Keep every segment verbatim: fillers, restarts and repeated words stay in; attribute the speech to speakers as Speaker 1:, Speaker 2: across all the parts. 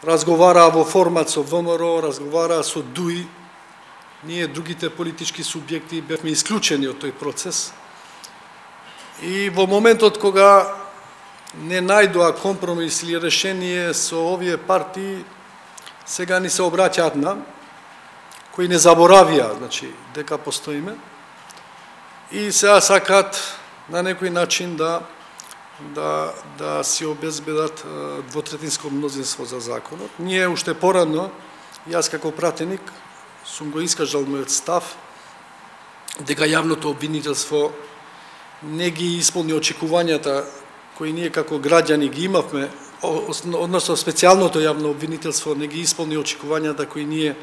Speaker 1: разговараа во формат со ВМРО, разговараа со ДУИ. Ние, другите политички субјекти, бевме исклучени од тој процес. И во моментот кога не најдоа компромис или решение со овие партии, сега ни се обраќаат нам, кои не заборавија, значи, дека постоиме, и сега сакаат на некој начин да да да си обезбедат двотретинско мнозинство за законот. Ние уште порано, јас како пратеник, сум го искажал мојот став дека јавното обвинителство не ги исполни очекувањата кои ние како граѓани ги имавме, односно специјалното јавно обвинителство не ги исполни очекувањата кои ние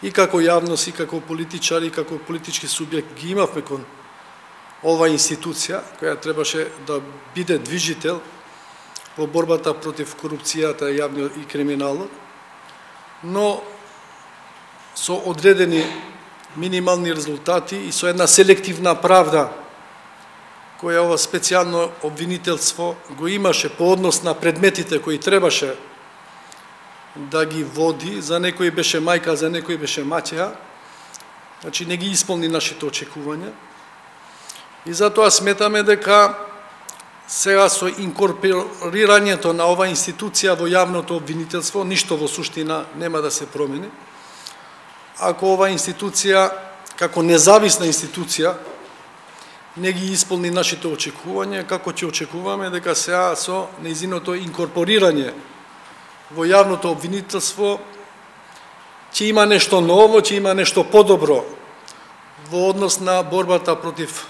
Speaker 1: и како јавност, и како политичари, и како политички субјект ги имавме кон ова институција, која требаше да биде движител во борбата против корупцијата и криминалот, но со одредени минимални резултати и со една селективна правда, која ова специјално обвинителство го имаше по однос на предметите кои требаше да ги води, за некој беше мајка, за некој беше маќеа, значи не ги исполни нашите очекувања. И затоа сметаме дека сега со инкорпорирањето на ова институција во јавното обвинителство, ништо во суштина нема да се промени. Ако ова институција, како независна институција, не ги исполни нашите очекувања, како ќе очекуваме дека сега со нејзиното инкорпорирање во јавното обвинителство ќе има нешто ново, ќе има нешто подобро во однос на борбата против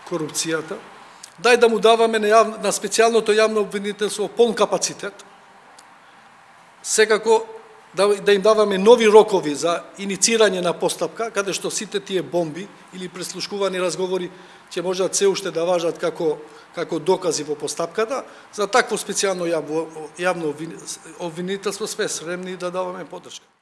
Speaker 1: корупцијата. Дај да му даваме на, јав... на специјалното јавно обвинителство полн капацитет, секако да, да им даваме нови рокови за иницирање на постапка, каде што сите тие бомби или преслушкувани разговори ќе можат се уште да важат како, како докази во постапката. За такво специјално јавно обвинителство сме спремни да даваме поддршка.